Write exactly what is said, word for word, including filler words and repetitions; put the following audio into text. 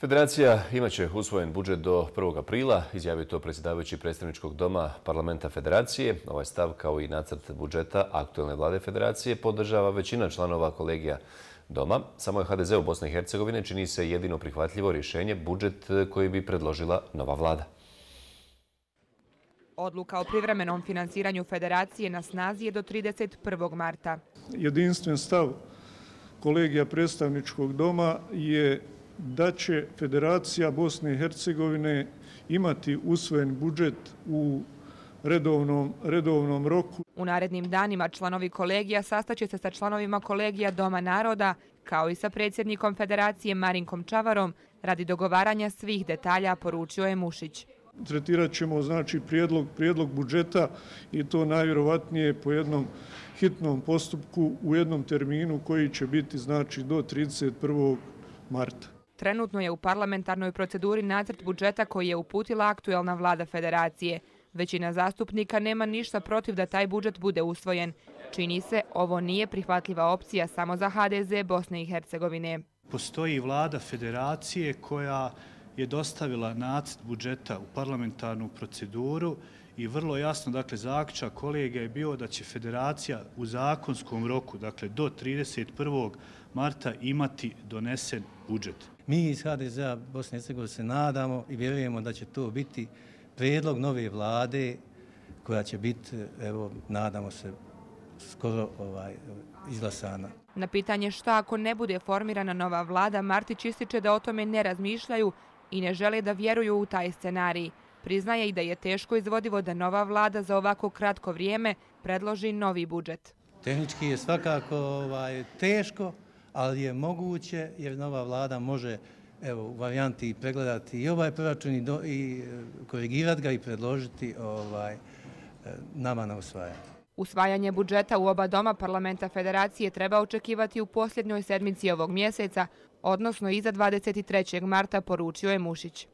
Federacija imaće usvojen budžet do prvog aprila, izjavio to predsjedavajući predstavničkog doma parlamenta Federacije. Ovaj stav, kao i nacrt budžeta aktuelne vlade Federacije, podržava većina članova kolegija doma. Samo je ha de zeu Bosne i Hercegovine čini se jedino prihvatljivo rješenje budžet koji bi predložila nova vlada. Odluka o privremenom finansiranju Federacije na snazi je do trideset prvog marta. Jedinstven stav kolegija predstavničkog doma je da će Federacija Bosne i Hercegovine imati usvojen budžet u redovnom, redovnom roku. U narednim danima članovi kolegija sastaće se sa članovima kolegija Doma naroda, kao i sa predsjednikom Federacije Marinkom Čavarom, radi dogovaranja svih detalja, poručio je Mušić. Tretirat ćemo znači prijedlog, prijedlog budžeta i to najvjerovatnije po jednom hitnom postupku u jednom terminu koji će biti znači do trideset prvog marta. Trenutno je u parlamentarnoj proceduri nacrt budžeta koji je uputila aktuelna vlada Federacije. Većina zastupnika nema ništa protiv da taj budžet bude usvojen. Čini se, ovo nije prihvatljiva opcija samo za ha de ze Bosne i Hercegovine. Postoji vlada Federacije koja je dostavila nacrt budžeta u parlamentarnu proceduru i vrlo jasno, dakle, zaključak kolegija je bio da će Federacija u zakonskom roku, dakle, do trideset prvog marta imati donesen budžet. Mi iz ha de zea Bosne i Hercegovine se nadamo i vjerujemo da će to biti prijedlog nove vlade koja će biti, evo, nadamo se, skoro ovaj, izglasana. Na pitanje šta ako ne bude formirana nova vlada, Martić ističe da o tome ne razmišljaju i ne žele da vjeruju u taj scenarij. Priznaje i da je teško izvodivo da nova vlada za ovako kratko vrijeme predloži novi budžet. Tehnički je svakako ovaj, teško, ali je moguće jer nova vlada može, evo, u varijanti pregledati i ovaj proračun i, do, i korigirati ga i predložiti ovaj, nama na usvajanje. Usvajanje budžeta u oba doma parlamenta Federacije treba očekivati u posljednjoj sedmici ovog mjeseca, odnosno iza dvadeset trećeg marta, poručio je Mušić.